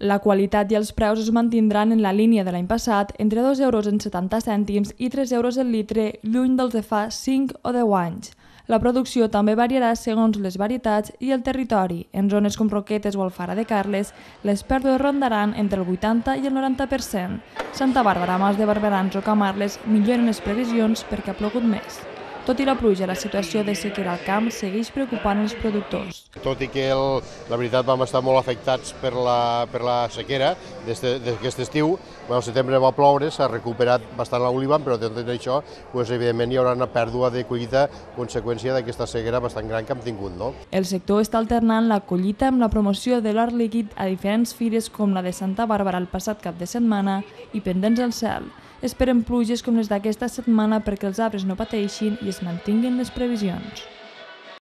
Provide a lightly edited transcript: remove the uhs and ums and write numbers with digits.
La qualitat i els preus es mantindran en la línia de l'any passat, entre 2,70 € i 3 € el litre, lluny dels de fa 5 o 10 anys. La producció també variarà segons les varietats i el territori. En zones com Roquetes o Alfara de Carles, les pèrdues rondaran entre el 80 i el 90%. Santa Bàrbara, Mas de Barberans o Camarles milloren les previsions perquè ha plogut més. Tot i la pluja, la situació de sequera al camp segueix preocupant els productors. Tot i que la veritat vam estar molt afectats per la sequera d'aquest estiu, al setembre va ploure, s'ha recuperat bastant l'oliva, però tot i això, evidentment hi haurà una pèrdua de collita conseqüència d'aquesta sequera bastant gran que hem tingut. El sector està alternant la collita amb la promoció de l'or líquid a diferents fires com la de Santa Bàrbara el passat cap de setmana i pendents al cel. Esperen pluges com les d'aquesta setmana perquè els arbres no pateixin i es mantinguin les previsions.